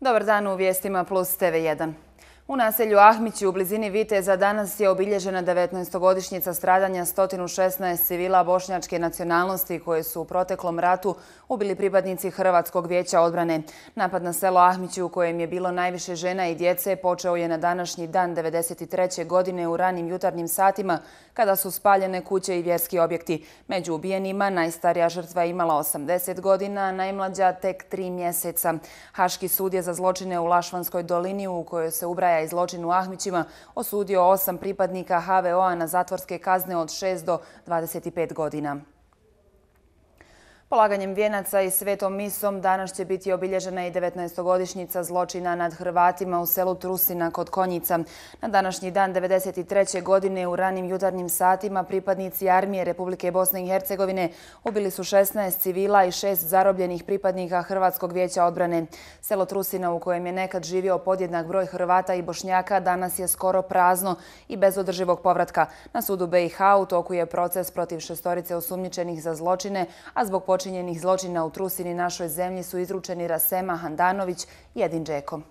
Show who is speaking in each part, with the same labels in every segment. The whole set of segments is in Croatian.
Speaker 1: Dobar dan u vijestima Plus TV1. U naselju Ahmići u blizini Viteza danas je obilježena 19-godišnjica stradanja 116 civila bošnjačke nacionalnosti koje su u proteklom ratu ubili pripadnici Hrvatskog vijeća odbrane. Napad na selo Ahmići u kojem je bilo najviše žena i djece počeo je na današnji dan 1993. godine u ranim jutarnjim satima kada su spaljene kuće i vjerski objekti. Među ubijenima najstarija žrtva je imala 80 godina, a najmlađa tek 3 mjeseca. Haški sud je za zločine u Lašvanskoj dolini u kojoj se ubraja i zločin u Ahmićima osudio 8 pripadnika HVO-a na zatvorske kazne od 6 do 25 godina. Polaganjem vijenaca i svetom misom danas će biti obilježena i 19-godišnjica zločina nad Hrvatima u selu Trusina kod Konjica. Na današnji dan 1993. godine u ranim jutarnjim satima pripadnici armije Republike Bosne i Hercegovine ubili su 16 civila i 6 zarobljenih pripadnika Hrvatskog vijeća odbrane. Selo Trusina u kojem je nekad živio podjednak broj Hrvata i Bošnjaka danas je skoro prazno i bez održivog povratka. Na sudu BiH u toku je proces protiv 6 osumnjičenih za zločine, a zbog počinjenih zločina u Trusini našoj zemlji su izručeni Rasema Handanović i Edin Džeko.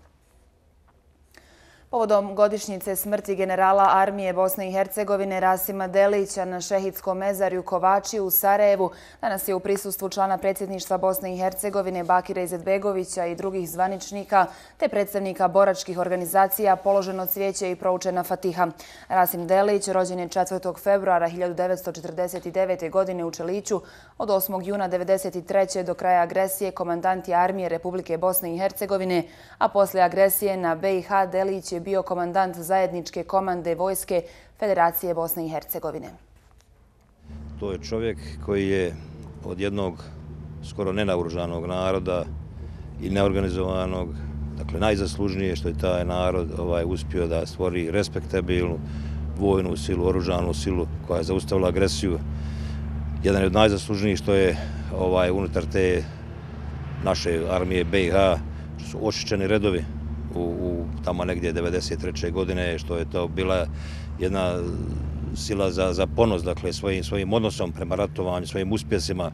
Speaker 1: Povodom godišnjice smrti generala armije Bosne i Hercegovine Rasima Delića na šehidskom mezarju Kovači u Sarajevu danas je u prisustvu člana predsjedništva Bosne i Hercegovine Bakira Izetbegovića i drugih zvaničnika te predstavnika boračkih organizacija položeno cvijeće i proučena fatiha. Rasim Delić rođen je 4. februara 1949. godine u Čeliću. Od 8. juna 1993. do kraja agresije komandant je armije Republike Bosne i Hercegovine, a poslije agresije na BiH Delić je bio komandant zajedničke komande vojske Federacije Bosne i Hercegovine.
Speaker 2: To je čovjek koji je od jednog skoro nenaoružanog naroda i neorganizovanog, dakle najzaslužnije što je taj narod uspio da stvori respektabilnu vojnu silu, oružanu silu koja je zaustavila agresiju. Jedan je od najzaslužnijih što je unutar te naše armije BiH, što su očišćeni redovi u tamo negdje 1993. godine, što je to bila jedna sila za ponos, dakle svojim odnosom prema ratovanju, svojim uspjesima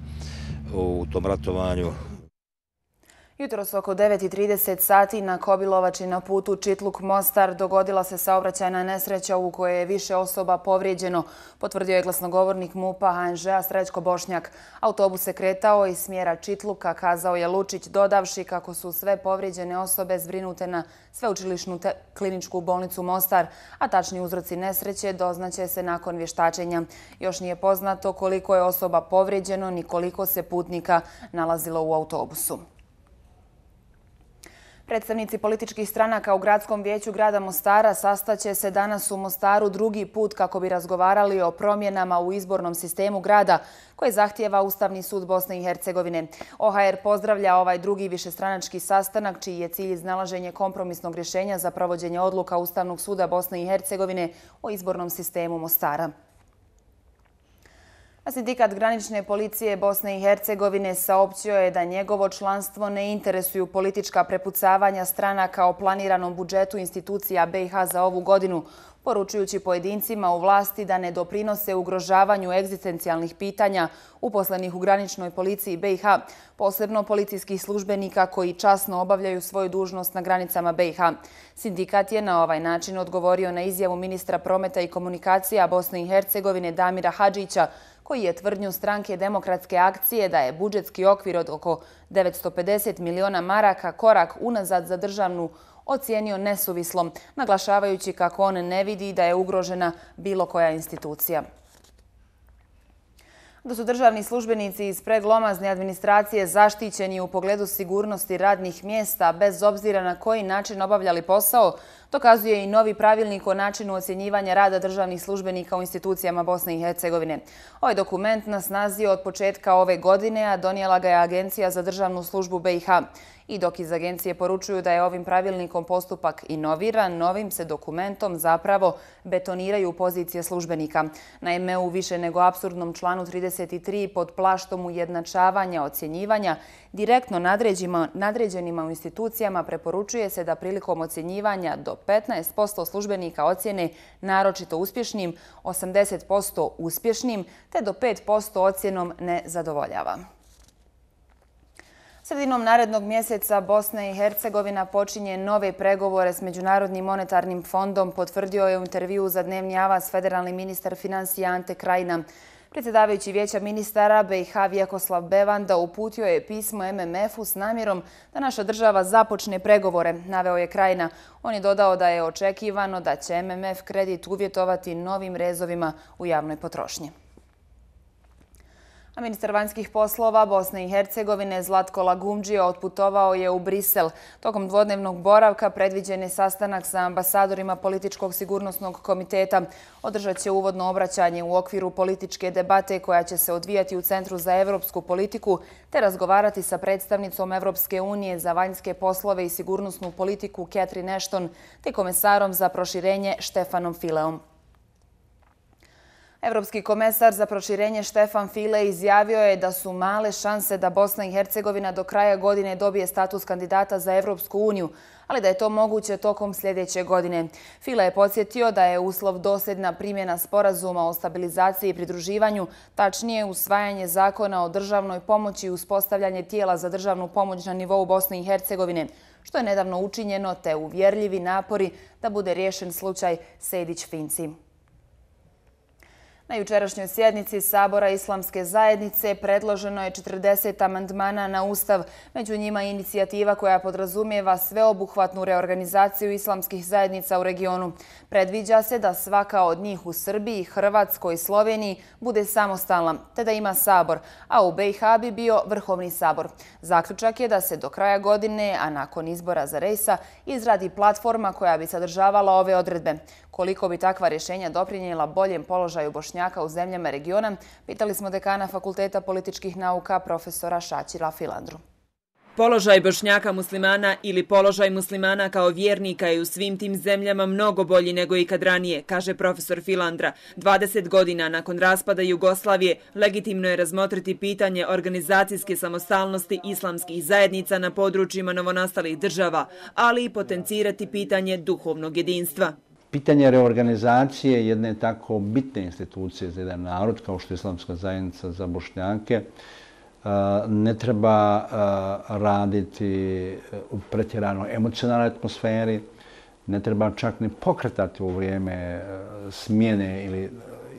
Speaker 2: u tom ratovanju.
Speaker 1: Jutros oko 9:30 sati na Kobilovači na putu Čitluk-Mostar dogodila se saobraćajna nesreća u kojoj je više osoba povrijeđeno, potvrdio je glasnogovornik MUP-a HNŽ-a Srećko Bošnjak. Autobus se kretao iz smjera Čitluka, kazao je Lučić, dodavši kako su sve povrijeđene osobe zbrinute na Sveučilišnu kliničku bolnicu Mostar, a tačni uzroci nesreće doznaće se nakon vještačenja. Još nije poznato koliko je osoba povrijeđeno ni koliko se putnika nalazilo u autobusu. Predstavnici političkih stranaka u Gradskom vijeću grada Mostara sastaće se danas u Mostaru drugi put kako bi razgovarali o promjenama u izbornom sistemu grada koje zahtijeva Ustavni sud Bosne i Hercegovine. OHR pozdravlja ovaj drugi višestranački sastanak čiji je cilj iznalaženje kompromisnog rješenja za provođenje odluka Ustavnog suda Bosne i Hercegovine o izbornom sistemu Mostara. Sindikat granične policije Bosne i Hercegovine saopćio je da njegovo članstvo ne interesuju politička prepucavanja stranaka o planiranom budžetu institucija BiH za ovu godinu, poručujući pojedincima u vlasti da ne doprinose ugrožavanju egzistencijalnih pitanja uposlenih u graničnoj policiji BiH, posebno policijskih službenika koji časno obavljaju svoju dužnost na granicama BiH. Sindikat je na ovaj način odgovorio na izjavu ministra prometa i komunikacija Bosne i Hercegovine Damira Hadžića, koji je tvrdnju stranke Demokratske akcije da je budžetski okvir od oko 950 miliona maraka korak unazad za državnu ocijenio nesuvislom, naglašavajući kako on ne vidi da je ugrožena bilo koja institucija. Da su državni službenici iz preglomazne administracije zaštićeni u pogledu sigurnosti radnih mjesta bez obzira na koji način obavljali posao, dokazuje i novi pravilnik o načinu ocjenjivanja rada državnih službenika u institucijama Bosne i Hercegovine. Ovaj dokument na snazi je od početka ove godine, a donijela ga je Agencija za državnu službu BiH. I dok iz agencije poručuju da je ovim pravilnikom postupak inoviran, novim se dokumentom zapravo betoniraju pozicije službenika. Naime, u više nego apsurdnom članu 33 pod plaštom ujednačavanja ocjenjivanja direktno nadređenima u institucijama preporučuje se da prilikom ocjenjivanja do 15% službenika ocjene naročito uspješnim, 80% uspješnim te do 5% ocjenom ne zadovoljava. Sredinom narednog mjeseca Bosna i Hercegovina počinje nove pregovore s Međunarodnim monetarnim fondom, potvrdio je u intervjuu za Dnevni avaz federalni ministar financija Ante Krajina. Predsjedavajući Vijeća ministara BiH Vjekoslav Bevanda uputio je pismo MMF-u s namjerom da naša država započne pregovore, naveo je Krajina. On je dodao da je očekivano da će MMF kredit uvjetovati novim rezovima u javnoj potrošnji. A ministar vanjskih poslova Bosne i Hercegovine Zlatko Lagumdžija otputovao je u Brisel. Tokom dvodnevnog boravka predviđen je sastanak sa ambasadorima Političkog sigurnosnog komiteta. Održat će uvodno obraćanje u okviru političke debate koja će se odvijati u Centru za evropsku politiku te razgovarati sa predstavnicom Evropske unije za vanjske poslove i sigurnosnu politiku Catherine Ashton te komesarom za proširenje Štefanom Fileom. Evropski komesar za proširenje Štefan File izjavio je da su male šanse da Bosna i Hercegovina do kraja godine dobije status kandidata za Evropsku uniju, ali da je to moguće tokom sljedeće godine. File je podsjetio da je uslov dosljedna primjena sporazuma o stabilizaciji i pridruživanju, tačnije usvajanje zakona o državnoj pomoći i uspostavljanje tijela za državnu pomoć na nivou Bosne i Hercegovine, što je nedavno učinjeno, te uvjerljivi napori da bude riješen slučaj Sejdić-Finci. Na jučerašnjoj sjednici Sabora Islamske zajednice predloženo je 40 amandmana na Ustav, među njima inicijativa koja podrazumijeva sveobuhvatnu reorganizaciju islamskih zajednica u regionu. Predviđa se da svaka od njih u Srbiji, Hrvatskoj i Sloveniji bude samostalna, te da ima sabor, a u BiH bi bio Vrhovni sabor. Zaključak je da se do kraja godine, a nakon izbora za Rejsa, izradi platforma koja bi sadržavala ove odredbe. Koliko bi takva rješenja doprinijela boljem položaju Bošnjaka u zemljama regiona, pitali smo dekana Fakulteta političkih nauka profesora Šačira Filandru.
Speaker 3: Položaj Bošnjaka muslimana ili položaj muslimana kao vjernika je u svim tim zemljama mnogo bolji nego ikad ranije, kaže profesor Filandra. 20 godina nakon raspada Jugoslavije legitimno je razmotriti pitanje organizacijske samostalnosti islamskih zajednica na područjima novonastalih država, ali i potencirati pitanje duhovnog jedinstva.
Speaker 4: Pitanje reorganizacije jedne tako bitne institucije za jedan narod kao što je Islamska zajednica za Bošnjake ne treba raditi u pretjerano emocionalnoj atmosferi, ne treba čak ni pokretati u vrijeme smjene ili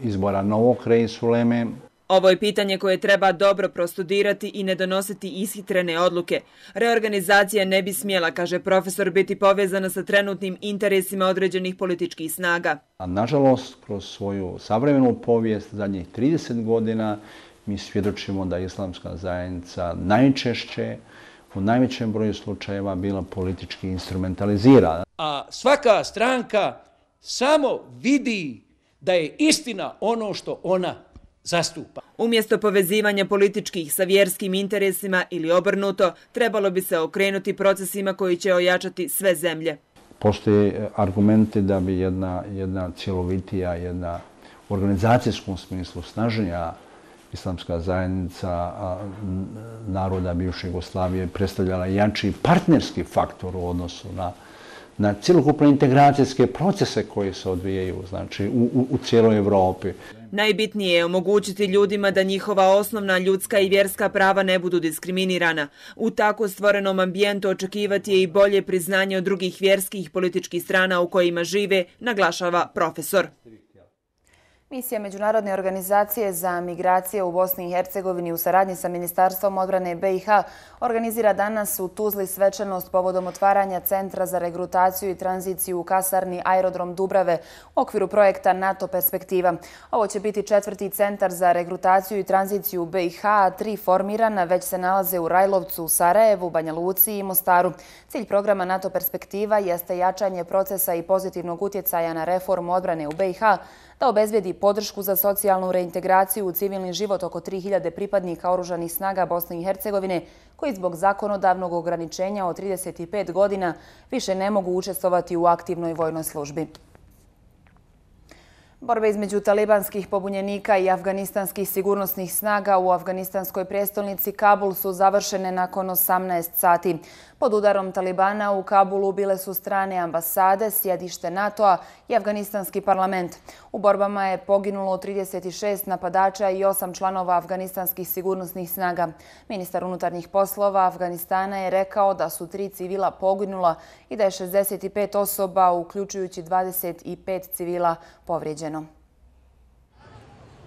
Speaker 4: izbora novog reis uleme.
Speaker 3: Ovo je pitanje koje treba dobro prostudirati i ne donositi ishitrene odluke. Reorganizacija ne bi smjela, kaže profesor, biti povezana sa trenutnim interesima određenih političkih snaga.
Speaker 4: A nažalost, kroz svoju savremenu povijest zadnjih 30 godina mi svjedočimo da je Islamska zajednica najčešće, u najvećem broju slučajeva bila politički instrumentalizirana.
Speaker 5: A svaka stranka samo vidi da je istina ono što ona zastupa.
Speaker 3: Umjesto povezivanja političkih sa vjerskim interesima ili obrnuto, trebalo bi se okrenuti procesima koji će ojačati sve zemlje.
Speaker 4: Postoje argumenti da bi jedna cjelovitija, jedna u organizacijskom smislu snažnija Islamska zajednica naroda bivše Jugoslavije predstavljala jači partnerski faktor u odnosu na cjelokupne integracijske procese koji se odvijaju, znači, u cijeloj Evropi.
Speaker 3: Najbitnije je omogućiti ljudima da njihova osnovna ljudska i vjerska prava ne budu diskriminirana. U tako stvorenom ambijentu očekivati je i bolje priznanje od drugih vjerskih i političkih strana u kojima žive, naglašava profesor.
Speaker 1: Misija Međunarodne organizacije za migracije u Bosni i Hercegovini u saradnji sa Ministarstvom odbrane BiH organizira danas u Tuzli svečanost povodom otvaranja Centra za regrutaciju i tranziciju u kasarni Aerodrom Dubrave u okviru projekta NATO Perspektiva. Ovo će biti 4. centar za regrutaciju i tranziciju u BiH, a 3 formirana već se nalaze u Rajlovcu, Sarajevu, Banja Luci i Mostaru. Cilj programa NATO Perspektiva jeste jačanje procesa i pozitivnog utjecaja na reformu odbrane u BiH, da obezbedi podršku za socijalnu reintegraciju u civilni život oko 3000 pripadnika oružanih snaga Bosne i Hercegovine koji zbog zakonodavnog ograničenja od 35 godina više ne mogu učestvovati u aktivnoj vojnoj službi. Borbe između talibanskih pobunjenika i afganistanskih sigurnosnih snaga u afganistanskoj prijestolnici Kabul su završene nakon 18 sati. Pod udarom Talibana u Kabulu bile su strane ambasade, sjedište NATO-a i afganistanski parlament. U borbama je poginulo 36 napadača i 8 članova afganistanskih sigurnosnih snaga. Ministar unutarnjih poslova Afganistana je rekao da su 3 civila poginula i da je 65 osoba, uključujući 25 civila, povrijeđeno.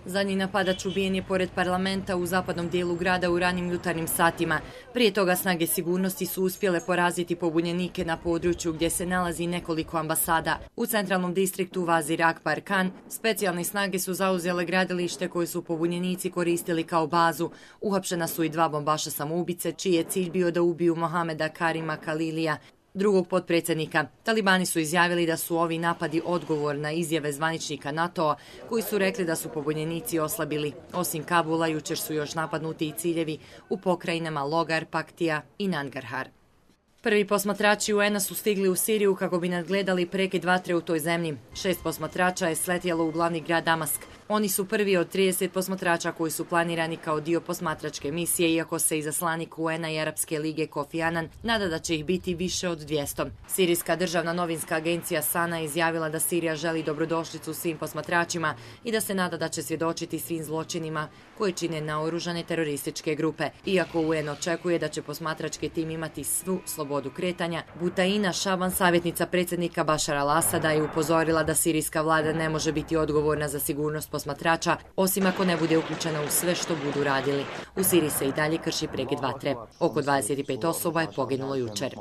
Speaker 6: Zadnji napadač ubijen je pored parlamenta u zapadnom dijelu grada u ranim jutarnjim satima. Prije toga snage sigurnosti su uspjele poraziti pobunjenike na području gdje se nalazi nekoliko ambasada. U centralnom distriktu Vazir Akbar Khan specijalne snage su zauzele gradilište koje su pobunjenici koristili kao bazu. Uhapšena su i 2 bombaša samoubice, čiji je cilj bio da ubiju Mohameda Karima Khalilija, drugog potpredsjednika. Talibani su izjavili da su ovi napadi odgovor na izjave zvaničnika NATO-a koji su rekli da su pobunjenici oslabili. Osim Kabula, jučer su još napadnuti i ciljevi u pokrajinama Logar, Paktija i Nangarhar. Prvi posmatrači UN-a su stigli u Siriju kako bi nadgledali prekid vatre u toj zemlji. 6 posmatrača je sletjelo u glavni grad Damask. Oni su prvi od 30 posmatrača koji su planirani kao dio posmatračke misije, iako se izaslanik UN-a i Arapske lige Kofi Annan nada da će ih biti više od 200. Sirijska državna novinska agencija Sana izjavila da Sirija želi dobrodošlicu svim posmatračima i da se nada da će svjedočiti svim zločinima koje čine naoružane terorističke grupe. Iako UN očekuje da će posmatrački tim imati svu slobodu kretanja, Butaina Šaban, savjetnica predsjednika Bašara al-Asada, je upozorila da sirijska vlada ne može biti odgovorna za sigurnost posmatrača, osim ako ne bude uključena u sve što budu radili. U Siriji se i dalje krši prekid vatre. Oko 25 osoba je poginulo jučer.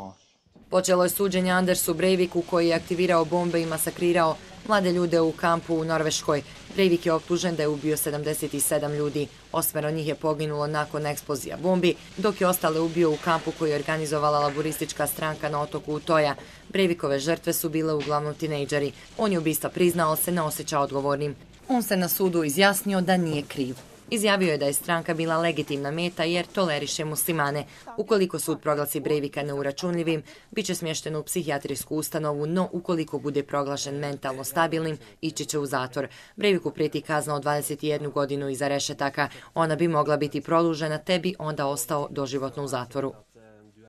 Speaker 6: Počelo je suđenje Andersu Breiviku koji je aktivirao bombe i masakrirao mlade ljude u kampu u Norveškoj. Breivik je optužen da je ubio 77 ljudi. 8 njih je poginulo nakon eksplozija bombi, dok je ostale ubio u kampu koji je organizovala laboristička stranka na otoku Utoja. Breivikove žrtve su bile uglavnom tinejdžeri. On je ubistva priznao, ali se ne osjeća odgovornim. On se na sudu izjasnio da nije kriv. Izjavio je da je stranka bila legitimna meta jer toleriše muslimane. Ukoliko sud proglasi Breivika neuračunljivim, bit će smješten u psihijatrijsku ustanovu, no ukoliko bude proglašen mentalno stabilnim, ići će u zatvor. Breiviku prijeti kazna od 21 godinu iza rešetaka. Ona bi mogla biti produžena, te bi onda ostao doživotno u zatvoru.